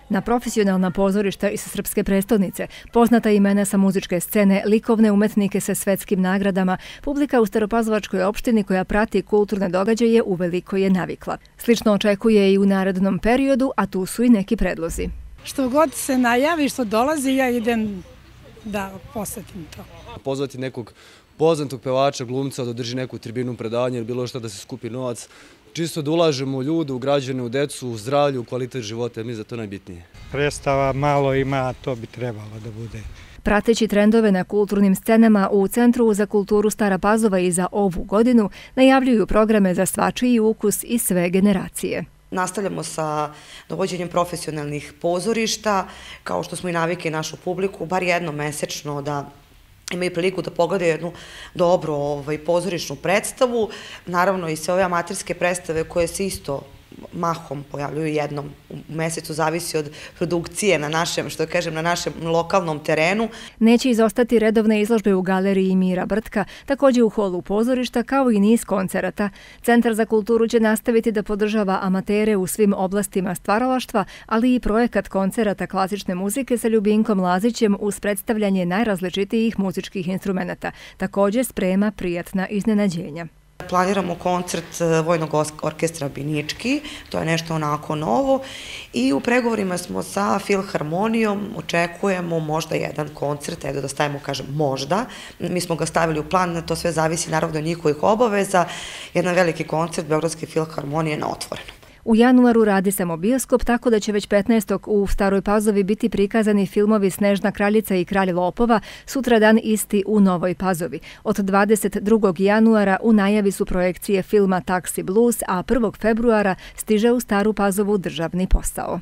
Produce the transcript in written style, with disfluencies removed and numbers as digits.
Na profesionalna pozorišta iz srpske prestonice, poznata imena sa muzičke scene, likovne umetnike sa svetskim nagradama, publika u Staropazovačkoj opštini koja prati kulturne događaje uveliko je navikla. Slično očekuje i u narednom periodu, a tu su i neki predlozi. Što god se najavi, što dolazi, ja idem da posetim to. Pozvati nekog poznatog pevača, glumca da održi neku tribinu predavanja ili bilo što da se skupi novac. Čisto da ulažemo u ljude, u građane, u decu, u zdravlju, u kvalitet života, mi za to najbitnije. Predstava malo ima, to bi trebalo da bude. Prateći trendove na kulturnim scenama u Centru za kulturu Stara Pazova i za ovu godinu najavljuju programe za svačiji ukus i sve generacije. Nastavljamo sa dovođenjem profesionalnih pozorišta, kao što smo i navikli našu publiku, bar jednom mesečno da imaju priliku da pogledaju jednu dobru pozorišnu predstavu. Naravno i sve ove amaterske predstave koje se isto mahom pojavljuju jednom u mesecu, zavisi od produkcije na našem, što kažem, na našem lokalnom terenu. Neće izostati redovne izložbe u galeriji Mira Brtka, također u holu pozorišta, kao i niz koncerata. Centar za kulturu će nastaviti da podržava amatere u svim oblastima stvaralaštva, ali i projekat koncerata klasične muzike sa Ljubinkom Lazićem uz predstavljanje najrazličitijih muzičkih instrumenata. Također sprema prijatna iznenađenja. Planiramo koncert Vojnog orkestra Binički, to je nešto onako novo i u pregovorima smo sa Filharmonijom, očekujemo možda jedan koncert, evo da stavimo, kažem, možda. Mi smo ga stavili u plan, to sve zavisi naravno od njihovih obaveza, jedan veliki koncert Beogradske filharmonije na otvorenom. U januaru radi samo bioskop, tako da će već 15. u Staroj Pazovi biti prikazani filmovi Snežna kraljica i Kralj lopova, sutradan isti u Novoj Pazovi. Od 22. januara u najavi su projekcije filma Taxi Blues, a 1. februara stiže u Staru Pazovu Državni posao.